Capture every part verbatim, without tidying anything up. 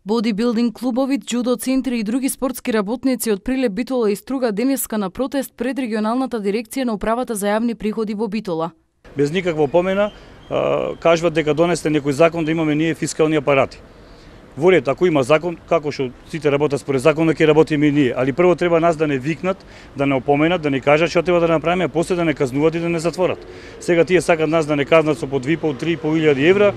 Бодибилдинг клубови, џудо центри и други спортски работници од Прилеп, Битола и Струга денеска на протест пред регионалната дирекција на управата за јавни приходи во Битола. Без никаква опомена кажуваат дека донесте некој закон да имаме ние фискални апарати. Во ред, ако има закон, како што сите работат според законот, ќе работиме и ние, али прво треба нас да не викнат, да не опоменат, да не кажат што треба да направиме, а после да не казнуват и да не затворат. Сега тие сакат нас да не казнат со по две и пол до три и пол илјади евра,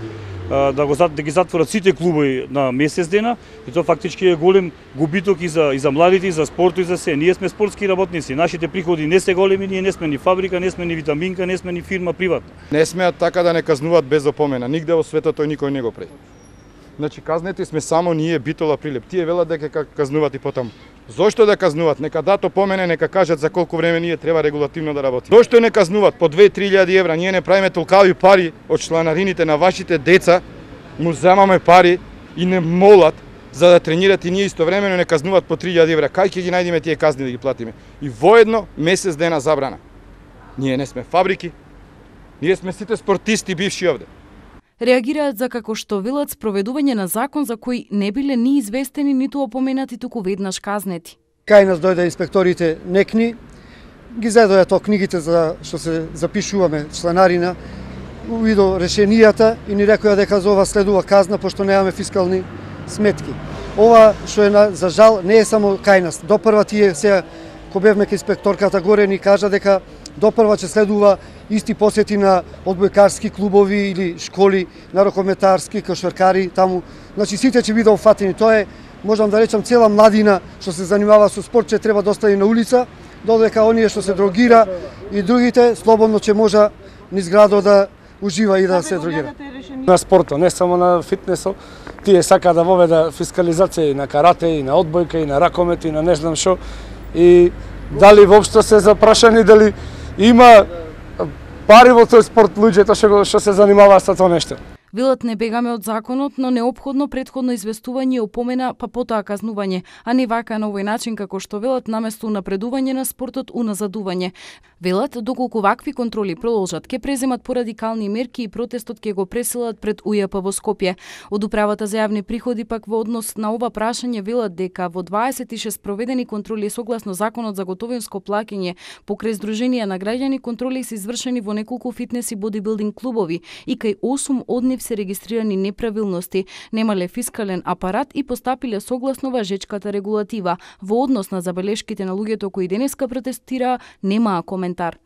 да го да ги затворат сите клубови на месец дена, и тоа фактички е голем губиток и за и за младите, и за спортот, и за се. Ние сме спортски работници, нашите приходи не се големи, ние не сме ни фабрика, не сме ни витаминка, не сме ни фирма приватна. Не смеат така да не казнуваат без опомена. Нигде во светот тој никој не го прави. Значи казнети сме само ние, Битола, Прилеп. Тие велат дека казнуваат и потаму. Зошто да казнуваат? Нека дат опомене, нека кажат за колку време ние треба регулативно да работиме. Зошто не казнуваат по две до три илјади евра? Ние не правиме толкави пари од чланарините на вашите деца, му земаме пари и не молат за да тренират и ние истовремено не казнуваат по три илјади евра. Кај ќе ги најдеме тие казни да ги платиме? И воедно месец дена забрана. Ние не сме фабрики, ние сме сите спортисти бивши овде. Реагираат за како што велат спроведување на закон за кој не биле ни известени, ниту опоменати, туку веднаш казнети. Кај нас дојде инспекторите некни, ги зедоја тоа книгите за што се запишуваме чланарина, увидо решенијата и ни рекоја дека за ова следува казна пошто немаме фискални сметки. Ова што е на, за жал не е само кај нас. Допрва тие сега кога бевме кај инспекторката горе ни кажа дека допрва ќе следува исти посети на одбојкарски клубови или школи, на рокометарски, кошаркари таму. Значи сите ќе бидат опфатени. Тоа е, можам да речам, цела младина што се занимава со спорт ќе треба да остане на улица, додека оние што се дрогира и другите слободно ќе може низ градот да ужива и да се дрогира. На спортот, не само на фитнесот, тие сака да воведа фискализација и на карате, и на одбојка, и на ракомет, и на не знам што. И дали воопшто се запрашани, дали има пари во тој спорт луѓето што што се занимаваат со тоа нешто. Велат не бегаме од законот, но неопходно претходно известување и опомена, па потоа казнување, а не вака на овој начин како што велат наместо унапредување на спортот уназадување. Велат доколку вакви контроли продолжат, ќе преземат порадикални мерки и протестот ќе го преселат пред У Ј П во Скопје. Од управата за јавни приходи пак во однос на ова прашање велат дека во дваесет и шест проведени контроли согласно законот за готовинско плаќање покрај здруженија на граѓани, контроли се извршени во неколку фитнес и бодибилдинг клубови и кај осум од нив се регистрирани неправилности, немале фискален апарат и постапиле согласно важечката регулатива. Во однос на забелешките на луѓето кои денеска протестираа, немаа коментар.